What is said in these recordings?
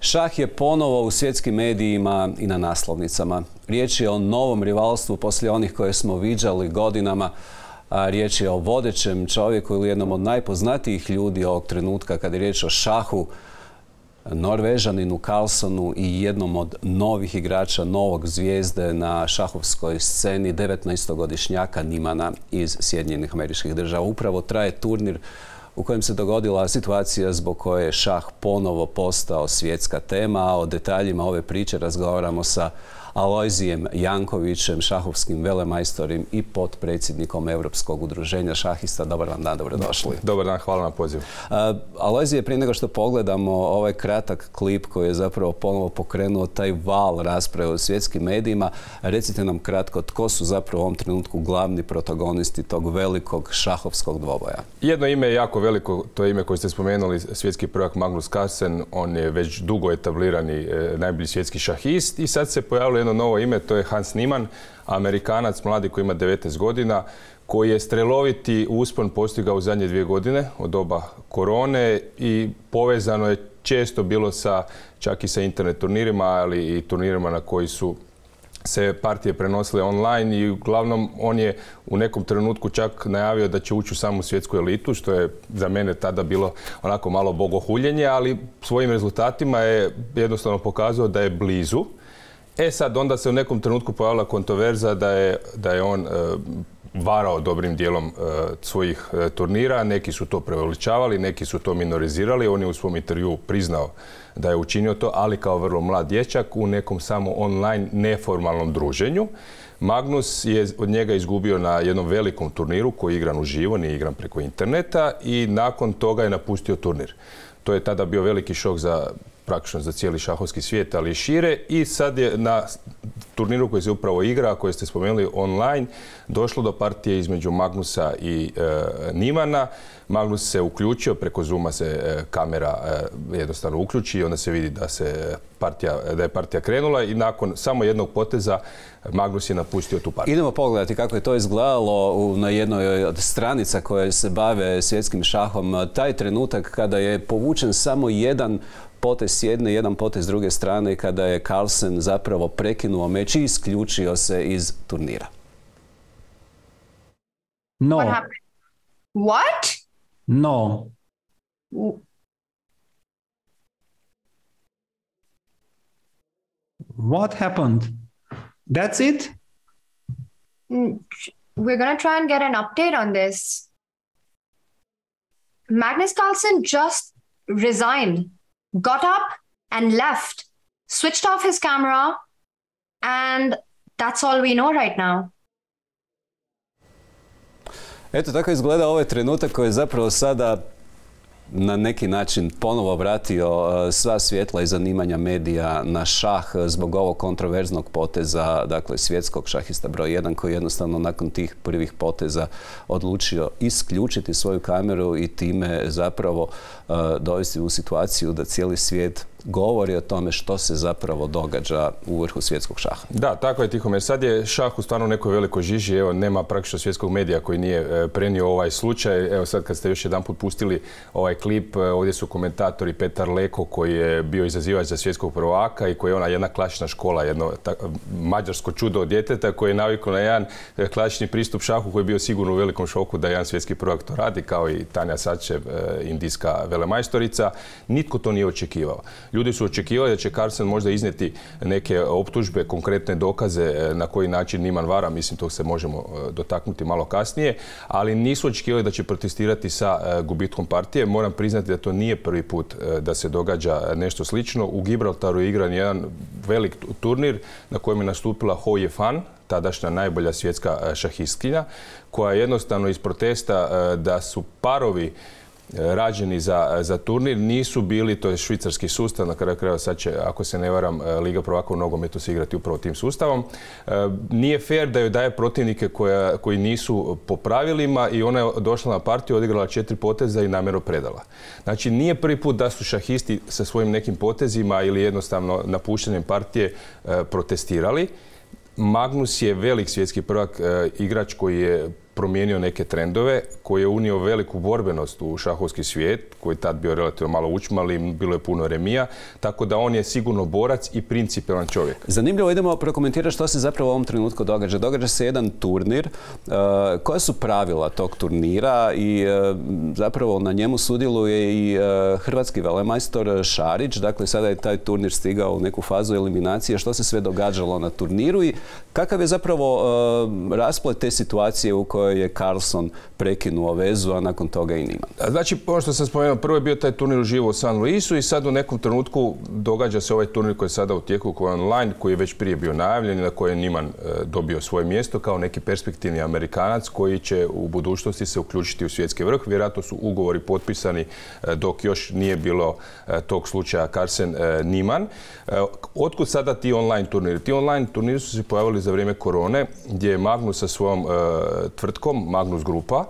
Šah je ponovo u svjetskim medijima i na naslovnicama. Riječ je o novom rivalstvu poslije onih koje smo viđali godinama. Riječ je o vodećem čovjeku ili jednom od najpoznatijih ljudi ovog trenutka kad je riječ o šahu, Norvežaninu Carlsenu i jednom od novih igrača, novog zvijezde na šahovskoj sceni, 19-godišnjaka Niemana iz Sjedinjenih Američkih Država. Upravo traje turnir u kojem se dogodila situacija zbog koje je šah ponovo postao svjetska tema. O detaljima ove priče razgovaramo sa Alojzijem Jankovićem, šahovskim velemajstorom i potpredsjednikom Europskog udruženja šahista. Dobar vam dan, dobrodošli. Dobar dan, hvala na pozivu. Alojzije, prije nego što pogledamo ovaj kratak klip koji je zapravo ponovo pokrenuo taj val rasprave u svjetskim medijima, recite nam kratko tko su zapravo u ovom trenutku glavni protagonisti tog velikog šahovskog dvoboja. Jedno ime je jako veliko, to je ime koje ste spomenuli, svjetski prvak Magnus Carlsen. On je već dugo etablirani najbolji svjetski šahist i sad se pojavilo jedno novo ime, to je Hans Niemann, Amerikanac, mladi koji ima 19 godina, koji je streloviti uspon postigao u zadnje 2 godine od doba korone i povezano je često bilo čak i sa internet turnirima, ali i turnirima na koji su se partije prenosile online i uglavnom on je u nekom trenutku čak najavio da će ući u samu svjetsku elitu, što je za mene tada bilo onako malo bogohuljenje, ali svojim rezultatima je jednostavno pokazao da je blizu. Sad onda se u nekom trenutku pojavila kontroverza da je on varao dobrim dijelom svojih turnira. Neki su to preuveličavali, neki su to minorizirali. On je u svom intervjuu priznao da je učinio to, ali kao vrlo mlad dječak u nekom samo online neformalnom druženju. Magnus je od njega izgubio na jednom velikom turniru koji je igran uživo, nije igran preko interneta i nakon toga je napustio turnir. To je tada bio veliki šok praktično za cijeli šahovski svijet, ali i šire. I sad je na turniru koji se upravo igra, koji ste spomenuli online, došlo do partije između Magnusa i Niemana. Magnus se uključio, preko Zooma se kamera jednostavno uključi i onda se vidi da je partija krenula i nakon samo jednog poteza Magnus je napustio tu partiju. Idemo pogledati kako je to izgledalo na jednoj od stranica koje se bave svjetskim šahom. Taj trenutak kada je povučen samo jedan potez s jedne, jedan potez s druge strane, kada je Carlsen zapravo prekinuo meč i isključio se iz turnira. No. What happened? What? No. What happened? That's it? We're going to try and get an update on this. Magnus Carlsen just resigned, got up and left, switched off his camera, and that's all we know right now. Eto, tako izgleda ovaj trenutak koji je zapravo sada na neki način ponovo vratio sva svjetla i zanimanja medija na šah zbog ovog kontroverznog poteza, dakle svjetskog šahista broj 1 koji jednostavno nakon tih prvih poteza odlučio isključiti svoju kameru i time zapravo dovesti u situaciju da cijeli svijet govori o tome što se zapravo događa u vrhu svjetskog šaha. Da, tako je, Tihomir. Sad je šah u stvarno nekoj velikoj žiži. Evo, nema praktično svjetskog medija koji nije prenio ovaj slučaj. Evo sad kad ste još jedanput pustili ovaj klip, ovdje su komentatori Petar Leko koji je bio izazivač za svjetskog prvaka i koji je ona jedna klasična škola, jedno mađarsko čudo od djeteta koji je navikao na jedan klasični pristup šahu koji je bio sigurno u velikom šoku da jedan svjetski prvak to radi, kao i Tanja Sačev, indijska velemajstorica. Nitko to nije očekivao. Ljudi su očekivali da će Carlsen možda iznijeti neke optužbe, konkretne dokaze na koji način Niemann vara, mislim tog se možemo dotaknuti malo kasnije, ali nisu očekivali da će protestirati sa gubitkom partije. Moram priznati da to nije prvi put da se događa nešto slično. U Gibraltaru je igran jedan velik turnir na kojem je nastupila Hou Yifan, tadašnja najbolja svjetska šahistkinja, koja jednostavno iz protesta da su parovi rađeni za turnir nisu bili, to je švicarski sustav, na kraju krajeva sad će, ako se ne varam, Liga prvaka u nogometu se igrati upravo tim sustavom. Nije fair da joj daje protivnike koji nisu po pravilima i ona je došla na partiju, odigrala 4 poteza i namjerno predala. Znači nije prvi put da su šahisti sa svojim nekim potezima ili jednostavno napuštanjem partije protestirali. Magnus je velik svjetski prvak, igrač koji je promijenio neke trendove, koji je unio veliku borbenost u šahovski svijet, koji je tad bio relativno malo učmali, bilo je puno remija, tako da on je sigurno borac i principijelan čovjek. Zanimljivo, idemo prokomentirati što se zapravo u ovom trenutku događa. Događa se jedan turnir. Koja su pravila tog turnira i zapravo na njemu sudjeluje i hrvatski velemajstor Šarić. Dakle, sada je taj turnir stigao u neku fazu eliminacije. Što se sve događalo na turniru i kakav je zapravo rasplet te situacije u kojoj je Carlson prekinuo vezu, a nakon toga i Niemann? Znači, ono što sam spomenuo, prvo je bio taj turnir uživo u San Luisu i sad u nekom trenutku događa se ovaj turnir koji je sada u tijeku, koji je online, koji je već prije bio najavljen i na kojem je Niemann dobio svoje mjesto kao neki perspektivni Amerikanac koji će u budućnosti se uključiti u svjetski vrh. Vjerojatno su ugovori potpisani dok još nije bilo tog slučaja Carlsen-Niemann. Otkud sada ti online turniri? Ti online turniri su se pojavili za vrijeme korone, gdje je Magnus sa svojom tvrtkom, Magnus Grupa,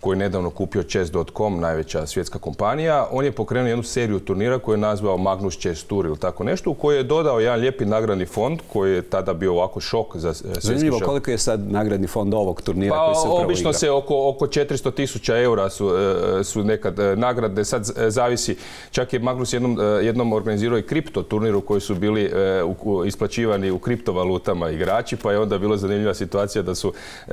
koji je nedavno kupio Chess.com, najveća svjetska kompanija. On je pokrenuo jednu seriju turnira koju je nazvao Magnus Chess Tour ili tako nešto, u kojoj je dodao jedan lijepi nagradni fond koji je tada bio ovako šok za svjetski šah. Zanimljivo, koliko je sad nagradni fond ovog turnira koji se upravo igra? Obično se oko 400.000 eura su nekad nagrade. Sad zavisi, čak je Magnus jednom organizirao i kripto turnir u koji su bili isplaćivani u kriptovalutama igrači, pa je onda bila zanimljiva situacija da su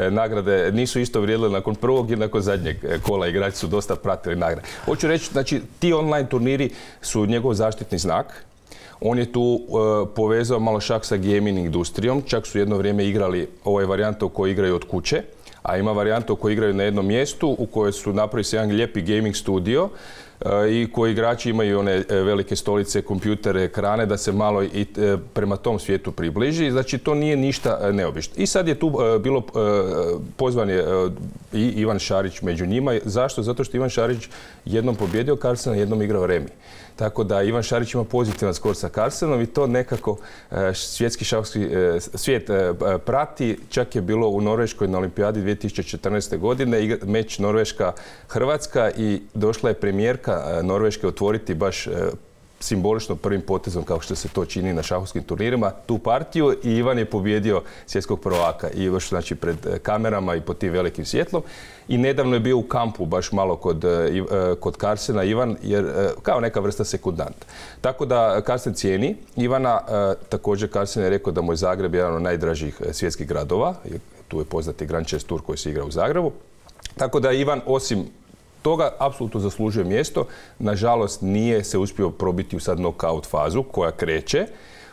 nagrade nisu isto vrijedile nakon prvog i nakon zadnjeg kola. Igrači su dosta pratili nagrade. Hoću reći, znači, ti online turniri su njegov zaštitni znak. On je tu povezao malo šah sa gaming industrijom. Čak su jedno vrijeme igrali, ovo je varijanta u kojoj igraju od kuće, a ima varijanta u kojoj igraju na jednom mjestu, u kojoj su napravili se jedan lijepi gaming studio i koji igrači imaju one velike stolice, kompjutere, ekrane, da se malo i prema tom svijetu približi. Znači, to nije ništa neobično. I sad je tu bilo pozvan je i Ivan Šarić među njima. Zašto? Zato što Ivan Šarić jednom pobjedio Carlsena, jednom igrao remi. Tako da Ivan Šarić ima pozitivan skor sa Carlsenom i to nekako svjetski šahovski svijet prati. Čak je bilo u Norveškoj na olimpijadi 2014. godine meč Norveška-Hrvatska i došla je premijerka Norveške otvoriti baš simbolično prvim potezom, kao što se to čini na šahovskim turnirima, tu partiju i Ivan je pobjedio svjetskog prvaka i još znači pred kamerama i pod tim velikim svjetlom. I nedavno je bio u kampu baš malo kod Carlsena Ivan, jer kao neka vrsta sekundanta. Tako da Carlsen cijeni Ivana, također Carlsen je rekao da mu je Zagreb jedan od najdražih svjetskih gradova, tu je poznati Grand Chess Tour koji se igra u Zagrebu. Tako da Ivan, osim toga, apsolutno zaslužuje mjesto. Nažalost, nije se uspio probiti u sad knockout fazu koja kreće,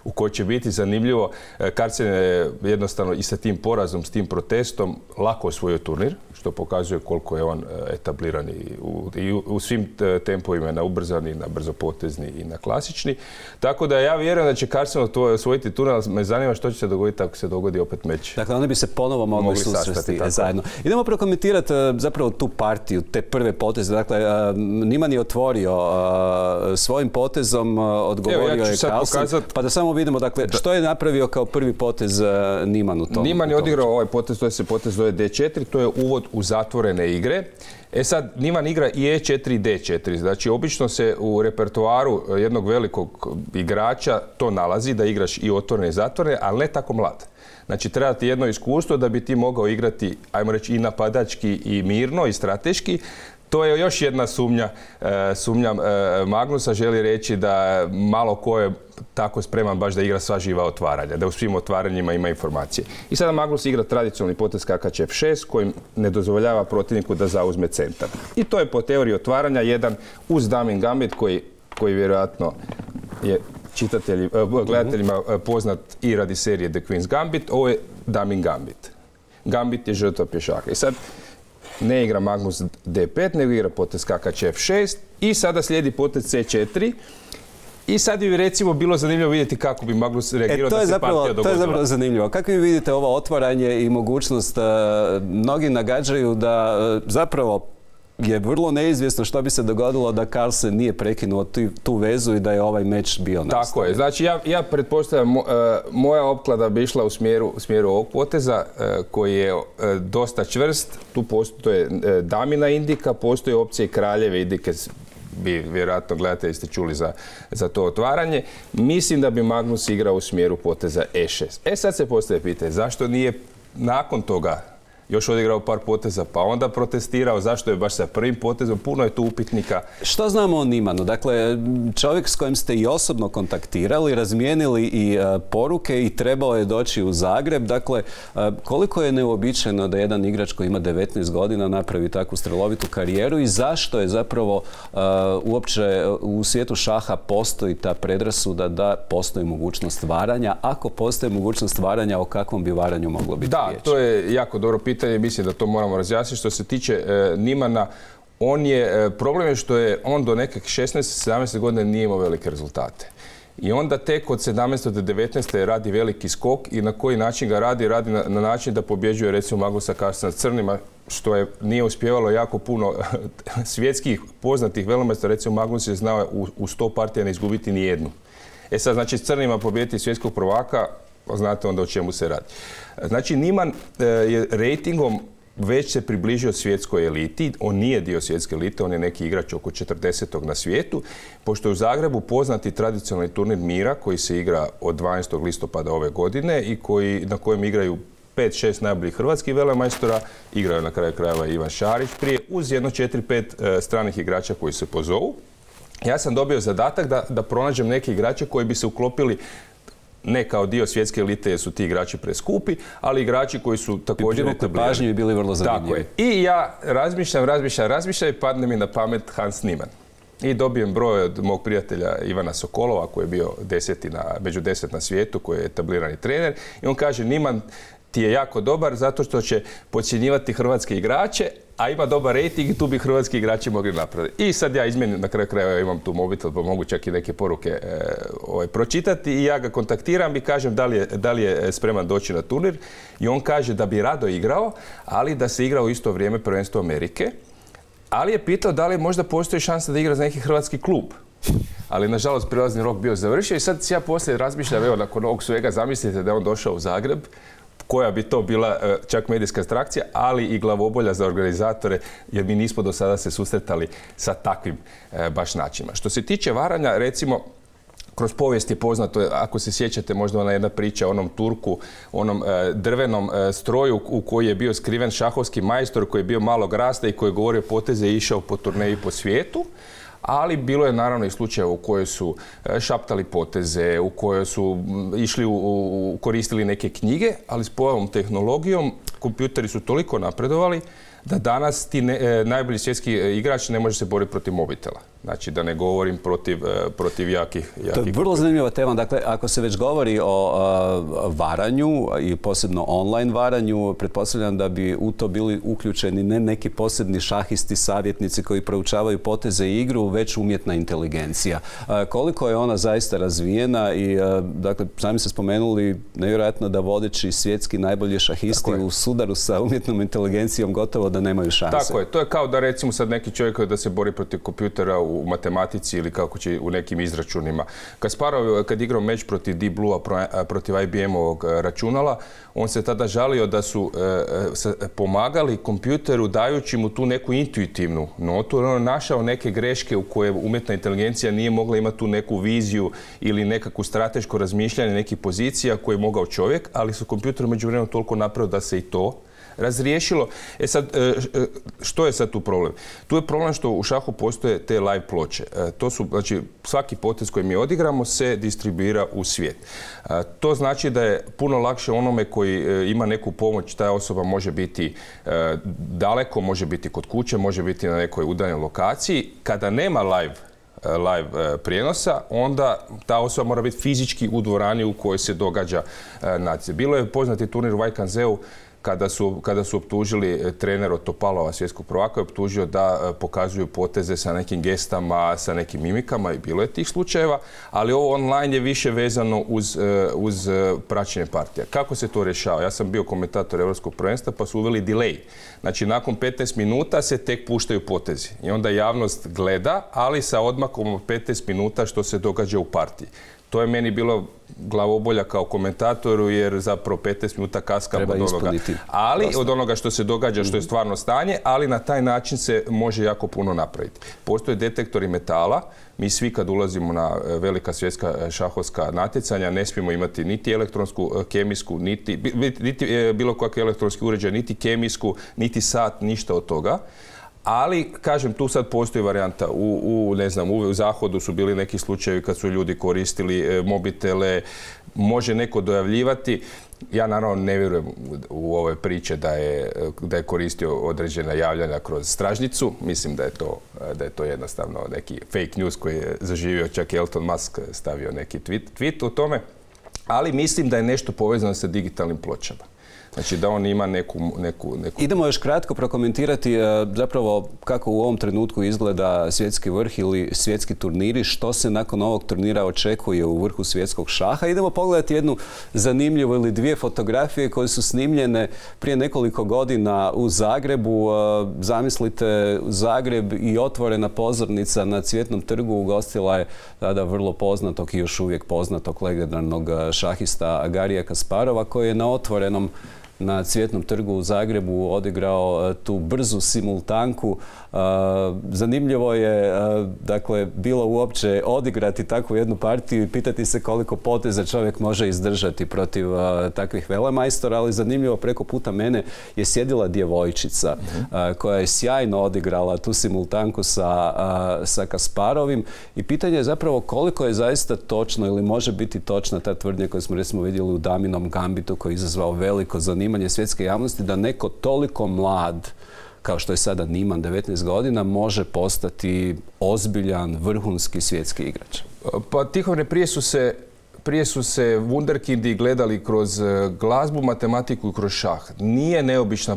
u kojoj će biti zanimljivo. Carlsen je jednostavno i sa tim porazom, s tim protestom lako osvojio turnir, što pokazuje koliko je on etabliran i u svim tempovima, na ubrzani, na brzopotezni i na klasični. Tako da ja vjerujem da će Carlsen osvojiti turnir, ali me zanima što će se dogoditi ako se dogodi opet meč. Dakle, oni bi se ponovo mogli susresti zajedno. Idemo prokomentirati zapravo tu partiju, te prve poteze. Dakle, Niemann je otvorio svojim potezom, odgovorio je Carlsen. Pa da samo vidimo, dakle, što je napravio kao prvi potez Niemann u tom? Niemann je odigrao ovaj potez, to se potez zove D4, to je uvod u zatvorene igre. Sad, Niemann igra i E4 i D4. Znači, obično se u repertoaru jednog velikog igrača to nalazi, da igraš i otvorene i zatvorene, ali ne tako mlad. Znači, treba ti jedno iskustvo da bi ti mogao igrati, ajmo reći, i napadački i mirno i strateški. To je još jedna sumnja Magnusa, želi reći da malo ko je tako spreman baš da igra sva živa otvaranja, da u svim otvaranjima ima informacije. I sada Magnus igra tradicionalni potez skakač F6 kojim ne dozvoljava protivniku da zauzme centar. I to je po teoriji otvaranja jedan uz Damin Gambit koji vjerojatno je gledateljima poznat i radi serije The Queen's Gambit. Ovo je Damin Gambit. Gambit je žrtva pješaka. I sad ne igra Magnus D5, nego igra potez skakač F6 i sada slijedi potez C4. I sad bi recimo bilo zanimljivo vidjeti kako bi Magnus reagirao da se partija dogodila. To je zapravo zanimljivo. Kako vi vidite ovo otvaranje i mogućnost, mnogi nagađaju da zapravo je vrlo neizvjesno što bi se dogodilo da Carlsen nije prekinuo tu vezu i da je ovaj meč bio nastavljen. Tako je. Znači ja pretpostavljam, moja opklada bi išla u smjeru ovog poteza koji je dosta čvrst. Tu postoje damina indika, postoje opcije kraljeve indike, bi vjerojatno gledatelji ste čuli za to otvaranje. Mislim da bi Magnus igrao u smjeru poteza E6. Sad se postaje pitanje zašto nije nakon toga još odigrao par poteza, pa onda protestirao, zašto je baš sa prvim potezom, puno je tu upitnika. Što znamo o Niemanu? Dakle, čovjek s kojim ste i osobno kontaktirali, razmijenili i poruke i trebao je doći u Zagreb. Dakle, koliko je neuobičajeno da jedan igrač koji ima 19 godina napravi takvu strelovitu karijeru i zašto je zapravo uopće u svijetu šaha postoji ta predrasuda da postoji mogućnost varanja? Ako postoji mogućnost varanja, o kakvom bi varanju moglo biti riječ? Da, to je jako dobro pitanje, mislim da to moramo razjasniti. Što se tiče Niemana, problem je što je on do nekih 16-17 godina nije imao velike rezultate. I onda tek od 17. do 19. radi veliki skok i na koji način ga radi na način da pobjeđuje recimo Magnusa Carlsena s crnima, što nije uspjevalo jako puno svjetskih poznatih velemajstora. Recimo Magnus je znao u 100 partija ne izgubiti ni jednu. Sad, znači s crnima pobjediti svjetskog prvaka, znate onda o čemu se radi. Znači Niemann je rejtingom već se približio svjetskoj eliti. On nije dio svjetske elite, on je neki igrač oko 40. na svijetu. Pošto je u Zagrebu poznati tradicionalni turnir mira koji se igra od 12. listopada ove godine i na kojem igraju 5-6 najboljih hrvatskih velemajstora, igraju na kraju krajeva Ivan Šarić prije, uz jedno 4-5 stranih igrača koji se pozovu. Ja sam dobio zadatak da pronađem neke igrače koji bi se uklopili ne kao dio svjetske elite jer su ti igrači preskupi, ali igrači koji su također etablirani. Pažnju i bili vrlo zanimljivi. Tako je. I ja razmišljam i padne mi na pamet Hans Niemann. I dobijem broj od mog prijatelja Ivana Sokolova koji je bio među 10 na svijetu, koji je etablirani trener. I on kaže, Niemann ti je jako dobar zato što će podcjenjivati hrvatske igrače, a ima dobar rejting i tu bi hrvatski igrači mogli napraviti. I sad ja izmjenim, na kraju krajeva imam tu mobitel pa mogu čak i neke poruke pročitati i ja ga kontaktiram i kažem da li je spreman doći na turnir i on kaže da bi rado igrao, ali da se igra u isto vrijeme prvenstvo Amerike, ali je pitao da li možda postoji šansa da igra za neki hrvatski klub. Ali nažalost prilazni rok bio završio i sad ja poslije razmišljam, evo nakon ovog svega zamislite da je on došao u Zagreb, koja bi to bila čak medijska atrakcija, ali i glavobolja za organizatore, jer mi nismo do sada se susretali sa takvim baš načinima. Što se tiče varanja, recimo, kroz povijest je poznato, ako se sjećate možda ona jedna priča o onom Turku, onom drvenom stroju u koji je bio skriven šahovski majstor koji je bio malog rasta i koji je govorio poteze i išao po turneji po svijetu. Ali bilo je naravno i slučajeva u kojoj su šaptali poteze, u kojoj su koristili neke knjige, ali s pojavom tehnologijom kompjuteri su toliko napredovali da danas ti najbolji svjetski igrač ne može se boriti protiv mobitela. Znači da ne govorim protiv jakih. To je vrlo zanimljiva tema. Dakle, ako se već govori o varanju i posebno online varanju, pretpostavljam da bi u to bili uključeni ne neki posebni šahisti, savjetnici koji proučavaju poteze i igru, već umjetna inteligencija. Koliko je ona zaista razvijena i, dakle, sami ste spomenuli nevjerojatno da vodeći svjetski najbolji šahisti u sudaru sa umjetnom inteligencijom gotovo da nemaju šanse. Tako je. To je kao da recimo sad neki čovjek da se bori protiv kompjutera u matematici ili kako će u nekim izračunima. Kad igrao meč protiv Deep Blue-a, protiv IBM-ovog računala, on se tada žalio da su pomagali kompjuteru dajući mu tu neku intuitivnu notu. On je našao neke greške u koje umjetna inteligencija nije mogla imati tu neku viziju ili nekakvu strateško razmišljanje nekih pozicija koje je mogao čovjek, ali su kompjuter među vremenom toliko napravio da se i to razriješilo. Sad, što je sad tu problem? Tu je problem što u šahu postoje te live ploče. To su, znači, svaki potez koji mi odigramo se distribuira u svijet. To znači da je puno lakše onome koji ima neku pomoć, ta osoba može biti daleko, može biti kod kuće, može biti na nekoj udaljenoj lokaciji. Kada nema live prijenosa, onda ta osoba mora biti fizički u dvorani u kojoj se događa natjecanje. Bilo je poznati turnir u Vajkanzeu kada su optužili trener od Topalova, svjetskog prvaka, je optužio da pokazuju poteze sa nekim gestama, sa nekim mimikama i bilo je tih slučajeva, ali ovo online je više vezano uz praćenje partija. Kako se to rješava? Ja sam bio komentator Europskog prvenstva pa su uveli delay. Znači, nakon 15 minuta se tek puštaju potezi i onda javnost gleda, ali sa odmakom od 15 minuta što se događa u partiji. To je meni bilo glavobolja kao komentatoru, jer zapravo 15 minuta kaskamo od onoga. Ali od onoga što se događa, što je stvarno stanje, ali na taj način se može jako puno napraviti. Postoje detektori metala. Mi svi kad ulazimo na velika svjetska šahovska natjecanja ne smijemo imati niti elektronsku, kemijsku, niti bilo kakvi elektronski uređaj, niti kemijsku, niti sat, ništa od toga. Ali, kažem, tu sad postoji varijanta. U Zahodu su bili neki slučajevi kad su ljudi koristili mobitele, može neko dojavljivati. Ja naravno ne vjerujem u ove priče da je koristio određena javljanja kroz stražnicu. Mislim da je to jednostavno neki fake news koji je zaživio, čak Elon Musk stavio neki tweet o tome. Ali mislim da je nešto povezano sa digitalnim pločama. Znači da on ima neku... Idemo još kratko prokomentirati zapravo kako u ovom trenutku izgleda svjetski vrh ili svjetski turniri, što se nakon ovog turnira očekuje u vrhu svjetskog šaha. Idemo pogledati jednu zanimljivu ili dvije fotografije koje su snimljene prije nekoliko godina u Zagrebu. Zamislite, Zagreb i otvorena pozornica na Cvjetnom trgu ugostila je tada vrlo poznatog i još uvijek poznatog legendarnog šahista Garija Kasparova, koji je na otvorenom na Cvjetnom trgu u Zagrebu odigrao tu brzu simultanku. Zanimljivo je dakle bilo uopće odigrati takvu jednu partiju i pitati se koliko poteza čovjek može izdržati protiv takvih velemajstora, ali zanimljivo, preko puta mene je sjedila djevojčica koja je sjajno odigrala tu simultanku sa Kasparovim i pitanje je zapravo koliko je zaista točno ili može biti točna ta tvrdnja koju smo recimo vidjeli u Daminom Gambitu, koji je izazvao veliko zanimanje svjetske javnosti, da neko toliko mlad kao što je sada Niemann, 19 godina, može postati ozbiljan, vrhunski svjetski igrač. Pa Tihomire, prije su se wunderkindi gledali kroz glazbu, matematiku i kroz šah. Nije neobična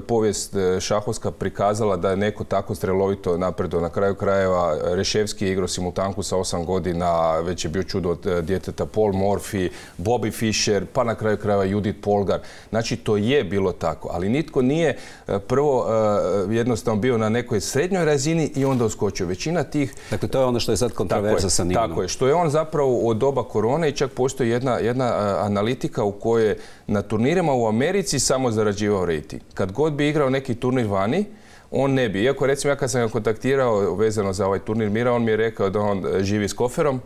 povijest šahovska prikazala da je neko tako strelovito napredovao. Na kraju krajeva Reševski je igrao simultanku sa 8 godina, već je bio čudo od djeteta Paul Morphy, Bobby Fischer, pa na kraju krajeva Judith Polgar. Znači, to je bilo tako, ali nitko nije prvo jednostavno bio na nekoj srednjoj razini i onda uskočio. Većina tih... Dakle, to je ono što je sad kontroverza sa Niemannom. Tako je, što je on zapravo od doba korone i čak postoji jedna analitika u kojoj na turnirima u Americi samo zarađivao rejting. Kad god bi igrao neki turnir vani, on ne bi. Iako recimo ja kad sam ga kontaktirao vezano za ovaj turnir mira, on mi je rekao da on živi s koferom,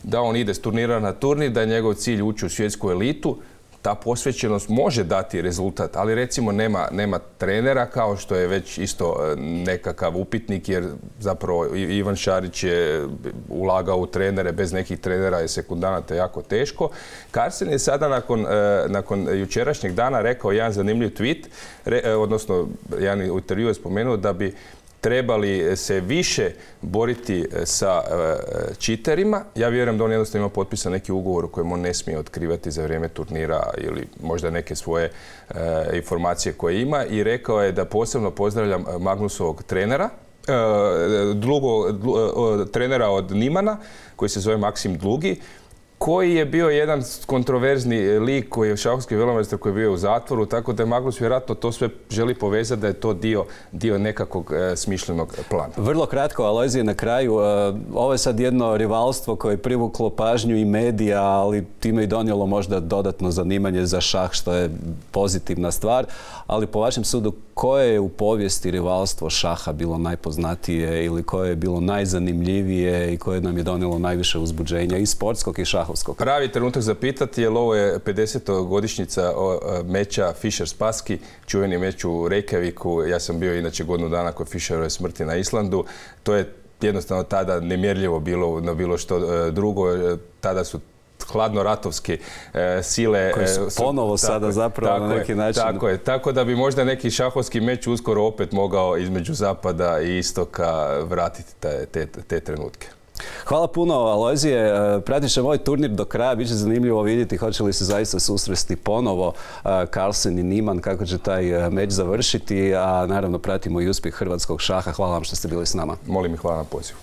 da on ide s turnira na turnir, da je njegov cilj ući u svjetsku elitu. Ta posvećenost može dati rezultat, ali recimo nema trenera, kao što je već isto nekakav upitnik, jer zapravo Ivan Šarić je ulagao u trenere, bez nekih trenera je sekundanata jako teško. Carlsen je sada nakon jučerašnjeg dana rekao jedan zanimljiv tweet, odnosno jedan intervju je spomenuo da bi trebali se više boriti sa čiterima. Ja vjerujem da on jednostavno ima potpisan neki ugovor u kojem on ne smije otkrivati za vrijeme turnira ili možda neke svoje informacije koje ima, i rekao je da posebno pozdravljam Magnusovog trenera, trenera od Niemana, koji se zove Maksim Dlugi, koji je bio jedan kontroverzni lik, koji je šahovski velemajstor koji je bio u zatvoru, tako da je Magnus vjerojatno to sve želi povezati da je to dio nekakvog smišljenog plana. Vrlo kratko, Alojzije, na kraju. Ovo je sad jedno rivalstvo koje je privuklo pažnju i medija, ali time i donijelo možda dodatno zanimanje za šah, što je pozitivna stvar. Ali po vašem sudu, koje je u povijesti rivalstvo šaha bilo najpoznatije ili koje je bilo najzanimljivije i koje nam je donijelo najviše uzbuđenja i sportskog i šahovskog? Pravi trenutak za pitati, jer ovo je 50-godišnjica meča Fischer-Spassky, čuveni meč u Reykjaviku. Ja sam bio inače godinu dana kod Fischerove smrti na Islandu. To je jednostavno tada nemjerljivo bilo na bilo što drugo. Tada su hladnoratovske sile koji su ponovo sada zapravo na neki način. Tako je. Tako da bi možda neki šahovski meč uskoro opet mogao između zapada i istoka vratiti te trenutke. Hvala puno, Alojzije. Pratit ćemo ovaj turnir do kraja. Biće zanimljivo vidjeti hoće li se zaista susresti ponovo Carlsen i Niemann, kako će taj meč završiti, a naravno pratimo i uspjeh hrvatskog šaha. Hvala vam što ste bili s nama. Molim i hvala na pozivu.